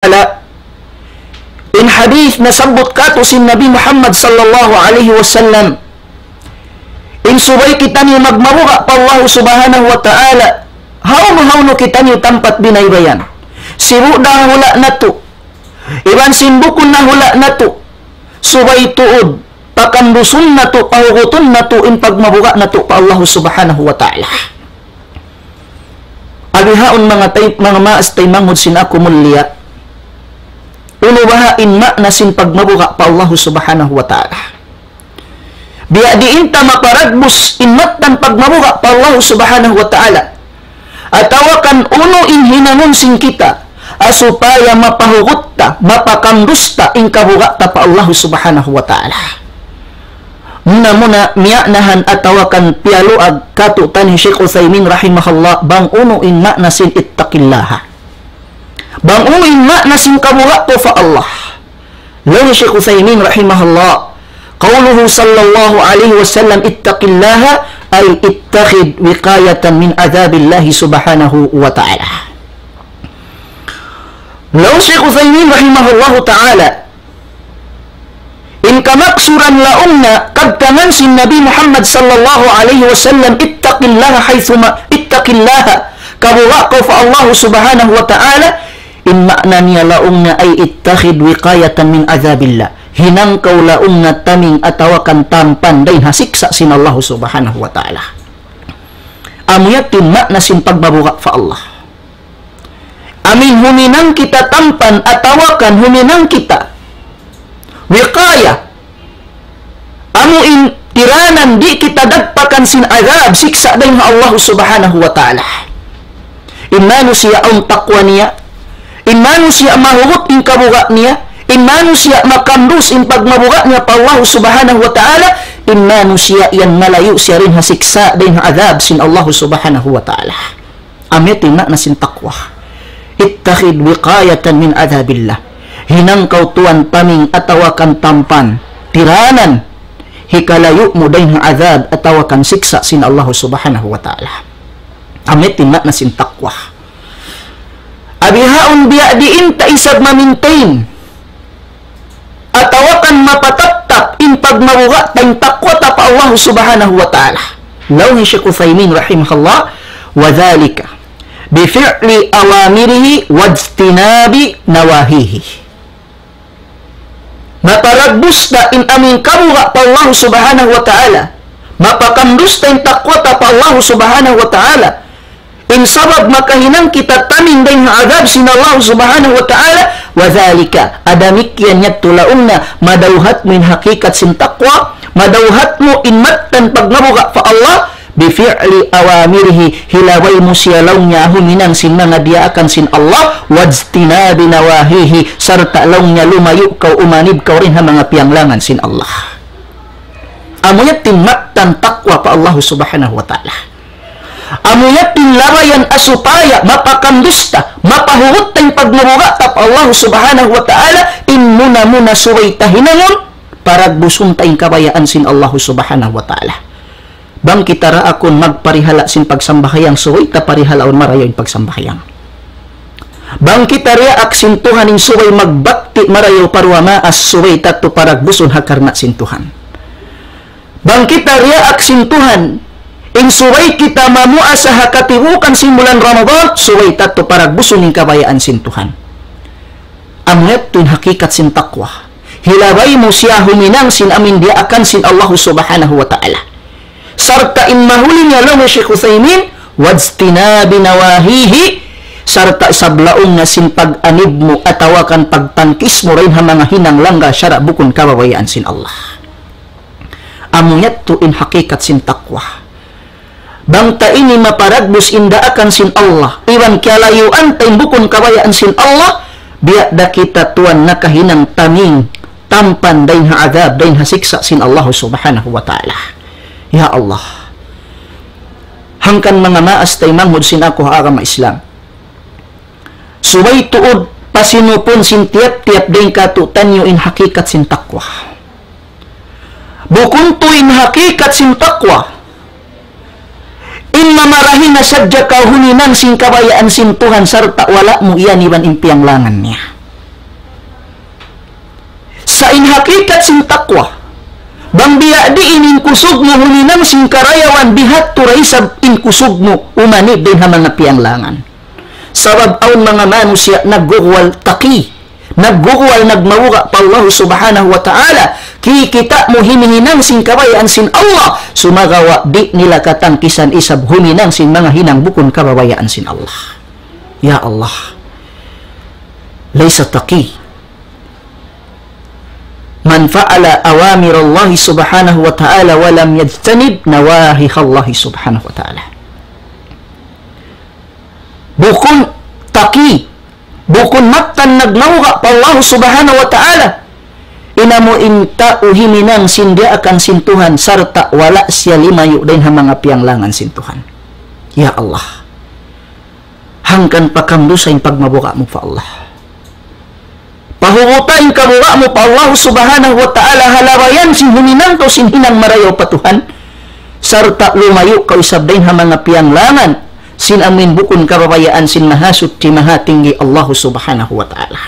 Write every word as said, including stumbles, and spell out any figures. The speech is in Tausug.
Ta'ala, in hadith nasabbut kātu' sin Nabi Muhammad sallallahu alayhi wasallam, in subay kitaniyu magmabuga' pa Allah subhanahu wa ta'ala, hawnu-hawnu kitaniyu tampat binaybayan. Sibu' da hula' natu', iban sin bukun na hula' natu', subay tuud pakandusun natu', pahugutun natu' in pagmabuga' natu' pa Allah subhanahu wa ta'ala. Abihaun manga tay-, manga maas taymanghud sin aku mulia. Unu baha' in ma'na sin pagmabuga' pa Allah subhanahu wa ta'ala? Biya' diin ta maparagbus in mattan pagmabuga' pa Allah subhanahu wa ta'ala? Atawa kan unu in hinangun sin kita, ha supaya mapahugut ta, mapakandus ta in kabuga' ta pa Allah subhanahu wa ta'ala? Muna-muna miya'nahan atawa kan piyaluag kātu' taniyu Shaykh Uthaymin rahimahullah, bang unu in ma'na sin ittaqillaha. Bang unu in ma'na sin kabuga' kaw pa Allah. Laung hi Shaykh Uthaymin rahimahullah, قوله صلى الله عليه وسلم اتق الله أي اتخذ وقاية من عذاب الله سبحانه وتعالى. Laung Shaykh Uthaymin rahimahullahu ta'ala, in kamaksuran laung niya kabtangan sin Nabi Muhammad sallallahu alayhi wasallam, اتق الله حيثما، اتق الله, kabuga' kaw pa Allah subhanahu wa ta'ala, in ma'na niya laung niya ay اتخذ وقاية من عذاب الله. Hinang kaw laung niya taming atawa kan tampan dayn ha siksa' sin Allah subhanahu wa ta'ala. Amu yadtu in ma'na sin pagmabuga' pa Allah. Amuin huminang kita tampan atawa kan huminang kita wiqaya. Amuin tiranan di' kita dagpakan sin adab, siksa' dayn ha Allah subhanahu wa ta'ala. In manusiya' awn taqwa niya, in manusiya' mahugut in kabuga' niya, in manusiya' makandus in pagmabuga' niya pa Allah subhanahu wa ta'ala, in manusiya' yan malayu' siya dayn ha siksa', dayn ha adab sin Allah subhanahu wa ta'ala. Amu yadtu in ma'na sin taqwa. اتخذ وقاية من عذاب الله. Hinang kaw tuwan taming atawa kan tampan, tiranan, hikalayu' mu dayn ha adab atawa kan siksa' sin Allah subhanahu wa ta'ala. Amu yadtu in ma'na sin taqwa. Abihaun biya' diin ta isab ma-maintain atawa kan mapatattap in pagmabuga' ta, in taqwa ta pa Allah subhanahu wa ta'ala. Laung hi Shaykh Uthaymin rahimahullah, وذلك بفعل أوامره واجتناب نواهيه. Maparagbus ta in amuin kabuga' pa Allah subhanahu wa ta'ala, mapakandus ta in taqwa ta pa Allah subhanahu wa ta'ala, in sabab makahinang kita taming dayn ha adab sin Allah subhanahu wa ta'ala, وذلك, damikkiyan yadtu laung niya, madawhat mu in hakikat sin taqwa, madawhat mu in mattan pagmabuga' pa Allah, بفعل أوامره, hilabay mu siya laung niya huminang sin manga diyaakan sin Allah, واجتناب نواهيه, sarta' laung niya lumayu' kaw, umanib kaw dayn ha manga piyanglangan sin Allah. Amu yadtu in mattan taqwa pa Allah subhanahu wa ta'ala. Amu yadtu in labayan ha supaya mapakandus ta, mapahugut ta in pagmabuga' ta pa Allah subhanahu wa ta'ala, in muna-muna subay ta hinangun, paragbusun ta in kabayaan sin Allah subhanahu wa ta'ala. Bang kita raakun magparihala' sin pagsambahayang, subay ta parihalaun marayaw in pagsambahayang. Bang kita diyaak sin Tuhan in subay magbakti marayaw pa duwa maas, subay ta tuud paragbusun ha karna' sin Tuhan. Bang kita diyaak sin Tuhan in subay kita mamuasa ha katibuukan sin bulan Ramadan, subay ta tuud paragbusun in kabayaan sin Tuhan. Amu yadtu in hakikat sin taqwa. Hilabay mu siya huminang sin amuin diyaakan sin Allah subhanahu wa ta'ala. Sarta' in mahuli niya laung hi Shaykh Uthaymin, واجتناب نواهيه, sarta' isab laung niya sin pag-anib mu atawa kan pagtangkis mu dayn ha manga hinang langgal sara' bukun kabayaan sin Allah. Amu yadtu in hakikat sin taqwa. Bang ta ini maparagbus in daakan sin Allah, iban kiyalayuan ta in bukun kabayaan sin Allah, biya' da kita tuwan nakahinang taming tampan dayn ha adab, dayn ha siksa' sin Allah subhanahu wa ta'ala. Ya Allah. Hangkan manga maas taymanghud sin aku ha agama Islam. Subay tuud pasinupun sin tiyap-tiyap dayn kātu'niyu in hakikat sin taqwa. Bukun tuud in hakikat sin taqwa in mamarahi na sadja kaw huminang sin kabayaan sin Tuhan sarta' wala' mu iyan iban in piyanglangan niya. Sa' in hakikat sin taqwa, bang biya' diin in kusug mu huminang sin karayawan, biya' hādtu da isab in kusug mu umanib dayn ha manga piyanglangan. Sabab awn manga manusiya' nagguguwal taqi, nagguguwal nagmabuga' pa Allah Subhanahu wa Ta'ala, kikita' mu himihinang sin kabayaan sin Allah, sumagawa' di' nila katangkisan isab huminang sin manga hinang bukun kabayaan sin Allah. Ya Allah, ليس تقي من فعل أوامر الله سبحانه وتعالى ولم يجتنب نواهي الله سبحانه وتعالى. Bukun taqi, bukun mattan nagmabuga' pa Allah Subhanahu wa Ta'ala, in amu in tau huminang sin diyaakan sin Tuhan, sarta' wala' siya limayu' dayn ha manga piyanglangan sin Tuhan. Ya Allah, hangkan pa kam dusa in pagmabuga' mu pa Allah. Pahuguta in kabuga' mu pa Allah Subhanahu wa Ta'ala ha labayan sin huminang kaw sin hinang marayaw pa Tuhan, sarta' lumayu' kaw isab dayn ha manga piyanglangan sin amu in bukun kabayaan sin Mahasuchi Mahatinggi Allah Subhanahu wa Ta'ala.